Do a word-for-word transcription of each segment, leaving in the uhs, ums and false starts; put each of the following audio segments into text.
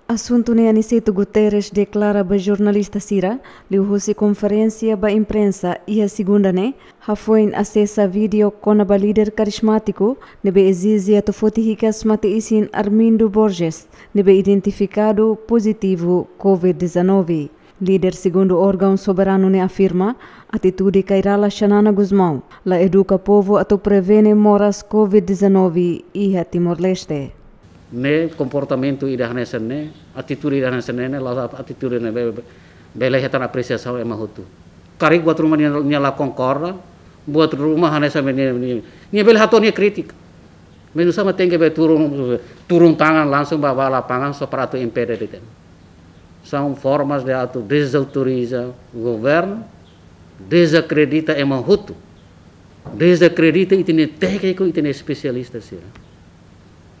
Asuntu ne'e Aniceto Guterres deklara ba jornalista sira liuhusi konferénsia ba imprensa iha segunda ne'e, hafoin asesa vídeo kona-ba líder karismátiku ne'ebé ezije atu foti hikas mate-isin Armindo Borges, ne'ebé identifikadu pozitivu covid dezanove. Líder segundu órgaun soberanu ne'e afirma, atitude Kay Rala Xanana Gusmão la eduka povu atu prevene moras covid dezanove iha Timor-Leste. Ne'e komportamentu ida hanesan ne'e, atitude ida hanesan ne'e, ne'e la'ós atitude ne'ebé be-, bele hetan apresiasaun ema hotu. Karik buat ruma nia, nia la konkorda, buat ruma hanesan ne'e, nia, nia, nia bele hato'o nia krítika. Mas oinsá mak tenke be turun, turun tangan langsung ba, ba lapangan só para atu impede de'it. São formas de atu dezautoriza governu, dezakredita ema hotu, dezakredita ita-nia tékniku, ita-nia espesialista sira.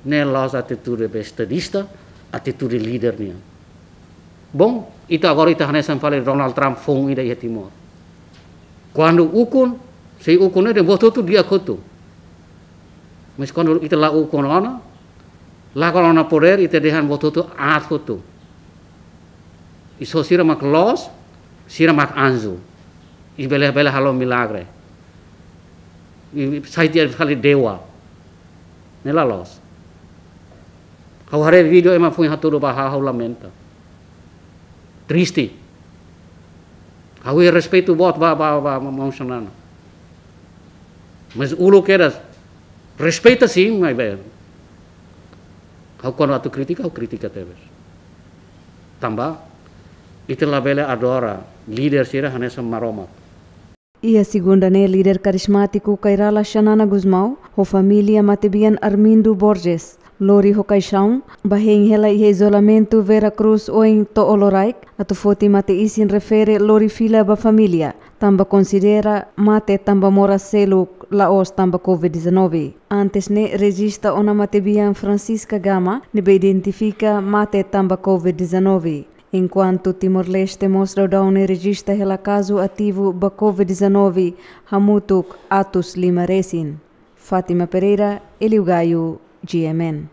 Ne'e la'ós atitude be estadista, atitude líder nian. Bom, ita agora ita hanesan fali Donald Trump foun ida iha Timor. Kuandu ukun, sei ukun ne'e dehan buat hotu di'ak hotu. Mas kuandu ita la ukun ona, lakon ona podér, ita dehan buat hotu aat hotu. I só sira mak loos, sira mak anju. I bele, bele halo milagre. I, i sai tiha fali dewa. Ne'e la loos. Ha'u haree vídeo ema foin hatudu ba ha'u, ha'u lamenta. Triste. Ha'u iha respeitu boot ba, ba, ba, ba maun Xanana. Mas uluk kedas, respeita sin, maibé ha'u kuandu atu kritika, ha'u kritika tebes. Tanba ita labele adora líder sira hanesan maromak. Iha segunda ne'e líder karismátiku Kay Rala Xanana Gusmão ho família matebian Armindo Borges lori ho kaixaun ba hein hela iha izolamentu Vera Cruz oin to'o loraik atu foti mate-isin refere lori fila ba família, tanba konsidera mate tanba moras seluk, la'ós tanba covid dezanove. Antes ne'e rejista ona matebian Francisca Gama ne'ebé identifika mate tanba covid dezanove. Enkuantu Timor-Leste mós daudaun ne'e rejista hela kazu ativu ba covid dezanove hamutuk atus lima resin. Fátima Pereira, Elio Gaio, G M N.